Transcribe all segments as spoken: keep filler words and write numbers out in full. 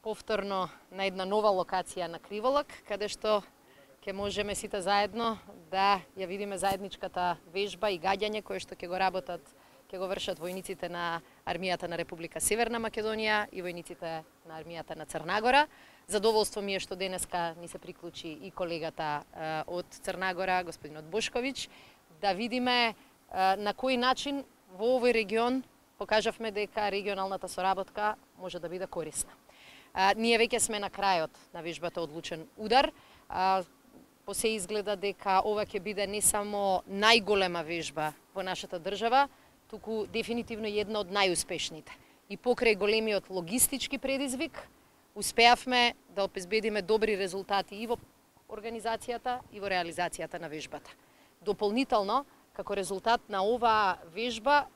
повторно на една нова локација на Криволак, каде што ќе можеме сите заедно да ја видиме заедничката вежба и гаѓање кое што ќе го работат, ќе го вршат војниците на армијата на Република Северна Македонија и војниците на армијата на Црна Гора. Задоволство ми е што денеска ни се приклучи и колегата од Црна Гора, господинот Бошковиќ, да видиме на кој начин во овој регион покажавме дека регионалната соработка може да биде корисна. А, ние веќе сме на крајот на вежбата Одлучен удар. А, по се изгледа дека ова ќе биде не само најголема вежба во нашата држава, туку дефинитивно една од најуспешните. И покрај големиот логистички предизвик, успеавме да обезбедиме добри резултати и во организацијата и во реализацијата на вежбата. Дополнително, како резултат на оваа вежба,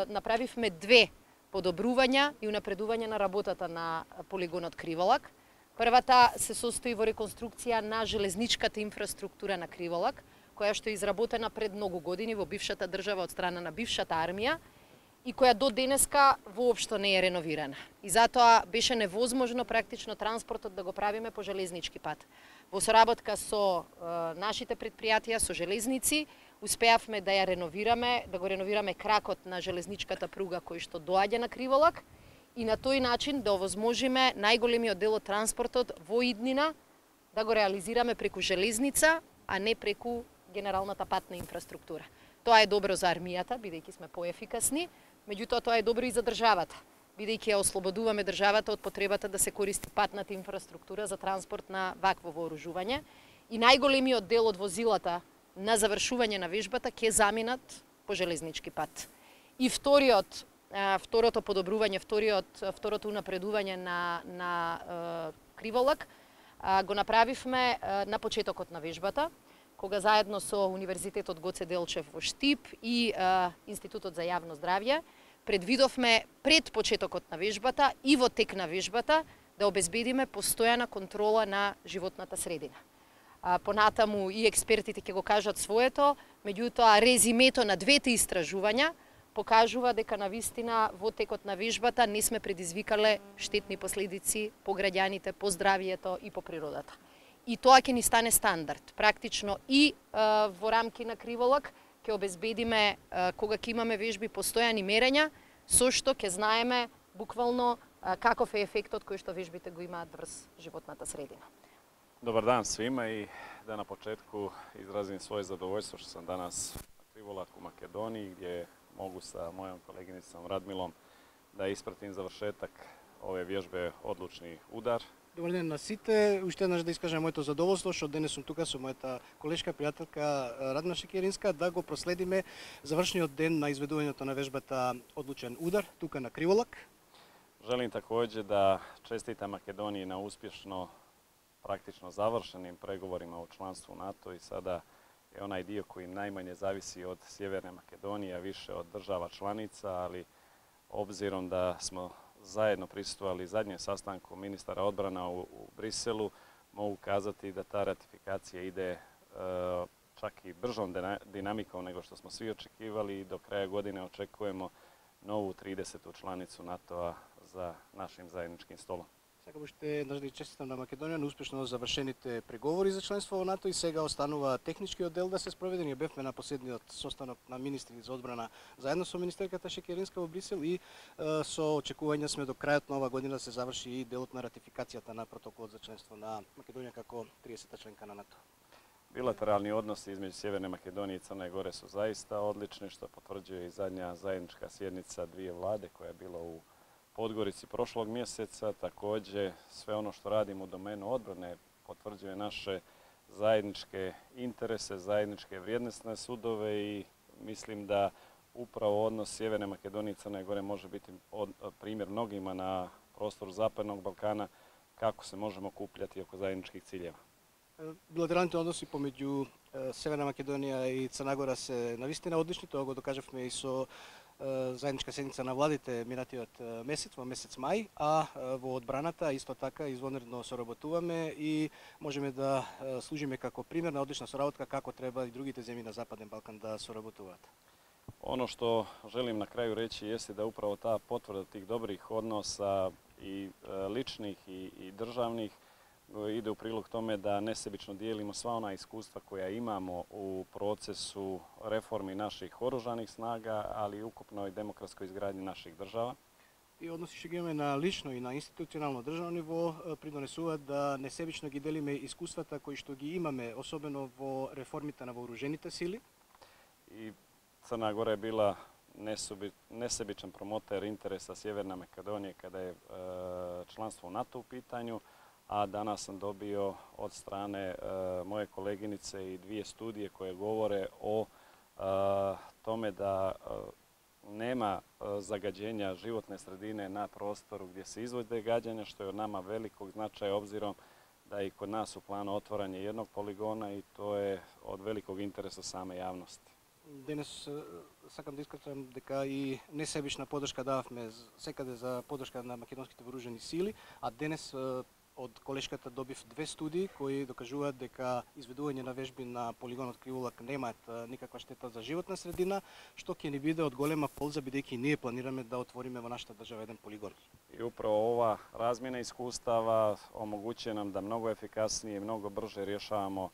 направивме две подобрувања и унапредување на работата на полигонот Криволак. Првата се состои во реконструкција на железничката инфраструктура на Криволак, која што е изработена пред многу години во бившата држава од страна на бившата армија и која до денеска воопшто не е реновирана. И затоа беше невозможно практично транспортот да го правиме по железнички пат. Во соработка со е, нашите предпријатија, со железници, успеавме да ја реновираме, да го реновираме кракот на железничката пруга кој што доаѓа на Криволак и на тој начин да овозможиме најголемиот дел од транспортот во иднина да го реализираме преку железница, а не преку генералната патна инфраструктура. Тоа е добро за армијата, бидејќи сме поефикасни, меѓутоа тоа е добро и за државата, бидејќи ја ослободуваме државата од потребата да се користи патната инфраструктура за транспорт на вакво вооружување и најголемиот дел од возилата на завршување на вежбата ќе заминат по железнички пат. И вториот, второто подобрување, вториот, второто унапредување на, на Криволак го направивме на почетокот на вежбата, кога заедно со Универзитетот Гоце Делчев во Штип и Институтот за јавно здравје предвидовме пред почетокот на вежбата и во тек на вежбата да обезбедиме постојана контрола на животната средина. Понатаму и експертите ќе го кажат своето, меѓутоа резимето на двете истражувања покажува дека навистина во текот на вежбата не сме предизвикале штетни последици по граѓаните, по здравието и по природата. И тоа ќе ни стане стандард. Практично и а, во рамки на Криволак ќе обезбедиме, а, кога ќе имаме вежби, постојани мерења, со што ќе знаеме буквално а, каков е ефектот кој што вежбите го имаат врз животната средина. Dobar dan svima i da na početku izrazim svoje zadovoljstvo što sam danas na Krivolaku u Makedoniji gdje mogu sa mojom koleginicom Radmilom da ispratim završetak ove vježbe Odlučni udar. Добар ден на сите. Уште еднаш да искажам моето задоволство што денес сум тука со мојата колешка, пријателка Радмила Шекеринска да го проследиме завршниот ден на изведувањето на вежбата Одлучен удар тука на Криволак. Želim također da čestitam Makedoniji na uspješno praktično završenim pregovorima o članstvu NATO i sada je onaj dio koji najmanje zavisi od Sjeverne Makedonije, a više od država članica, ali obzirom da smo zajedno prisustvovali zadnjem sastanku ministara odbrana u, u Briselu, mogu kazati da ta ratifikacija ide e, čak i bržom dinamikom nego što smo svi očekivali i do kraja godine očekujemo novu tridesetu članicu NATO-a za našim zajedničkim stolom. Сакам уште еднаш да честитам на Македонија на успешно завршените преговори за членство во НАТО и сега останува техничкиот дел да се спроведе. Ние бевме на последниот состанок на министри за одбрана заедно со министерката Шекеринска во Брисел и е, со очекување сме до крајот на ова година да се заврши и делот на ратификацијата на протоколот за членство на Македонија како тридесета членка на НАТО. Bilateralni odnosi između Sjeverne Makedonije i Crne Gore su zaista odlični, što potvrđuje i zadnja zajednička sjednica dvije vlade koja je bila u Podgorici prošlog mjeseca. Također sve ono što radimo u domenu odbrane potvrđuje naše zajedničke interese, zajedničke vrijednosne sudove i mislim da upravo odnos Sjeverne Makedonije i Crne Gore može biti od, primjer mnogima na prostoru Zapadnog Balkana kako se možemo okupljati oko zajedničkih ciljeva. Билатералните односи помеѓу Северна Македонија и Црна Гора се навистина одлични, тоа го докажавме и со заедничка седница на владите минатиот месец, во месец мај, а во одбраната исто така извонредно соработуваме и можеме да служиме како пример на одлична соработка kako треба и другите земји на Западен Балкан да соработуваат. Ono što želim na kraju reći jeste da upravo ta potvrda tih dobrih odnosa i ličnih i, i državnih, ide u prilog tome da nesebično dijelimo sva ona iskustva koja imamo u procesu reformi naših oružanih snaga, ali i ukupnoj demokratskoj izgradnji naših država. И односи што ги имаме на лично и на институционално државно ниво придонесуваат да несебично ги делиме искуствата кои што ги имаме, особено во реформите на вооружените сили. I Crna Gora je bila nesebičan promoter interesa Sjeverne Makedonije kada je članstvo u NATO u pitanju, a danas sam dobio od strane moje koleginice i dvije studije koje govore o tome da nema zagađenja životne sredine na prostoru gdje se izvode gađanja, što je od nama velikog značaja obzirom da je i kod nas u planu otvaranje jednog poligona i to je od velikog interesa same javnosti. Денес сакам да искажам дека и несебична подршка дававме секаде за подршка на македонските вооружени сили, а денес од колешката добив две студии кои докажуваат дека изведување на вежби на полигонот Криволак немаат никаква штета за животна средина, што ќе ни биде од голема полза бидејќи ние планираме да отвориме во нашата држава еден полигон. I upravo ova razmjena iskustava omogućuje nam da mnogo efikasnije i mnogo brže rješavamo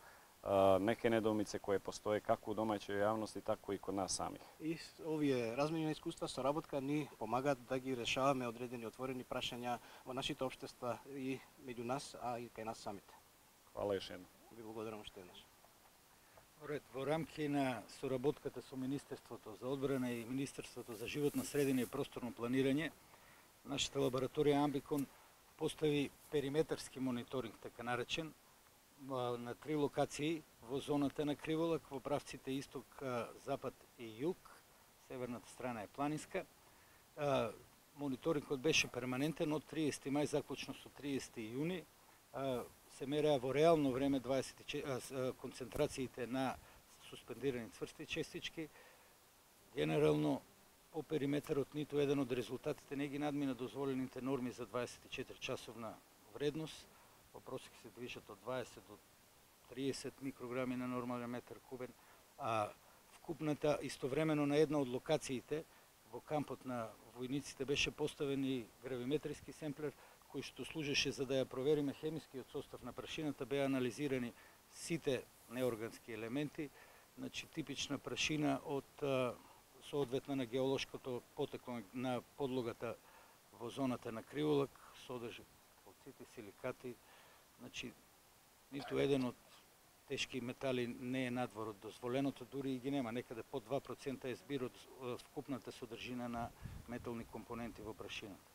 neke nedoumice koje postoje kako u domaćoj javnosti, tako i kod nas samih. И овие размени на искуства, соработка ни помагаат да ги решаваме одредени отворени прашања во нашите општества и меѓу нас, а и кај нас самите. Hvala još jednom. Ви благодарам уште еднаш. Ред, во рамки на соработката со Министерството за одбрана и Министерството за животна средина и просторно планирање, нашата лабораторија Амбикон постави периметарски мониторинг, така наречен, на три локации во зоната на Криволак, во правците исток, запад и југ. Северната страна е планинска. Мониторингот беше перманентен од триесети мај заклучно со триесети јуни. Се мереа во реално време дваесет и четири концентрациите на суспендирани цврсти честички. Генерално по периметарот ниту еден од резултатите не ги надмина дозволените норми за дваесет и четири часовна вредност. Во просек се движат од дваесет до триесет микрограми на нормален метар кубен, а вкупната истовремено на една од локациите во кампот на војниците беше поставен и гравиметриски семплер кој што служеше за да ја провериме хемискиот состав на прашината. Беа анализирани сите неоргански елементи, значи типична прашина од соодветна на геолошкото потекло на подлогата во зоната на Криволак, содржи калцити, силикати. Значи, ниту еден од тешки метали не е надвор од дозволеното, дури и ги нема. Некаде под два процента е збир од вкупната содржина на метални компоненти во прашината.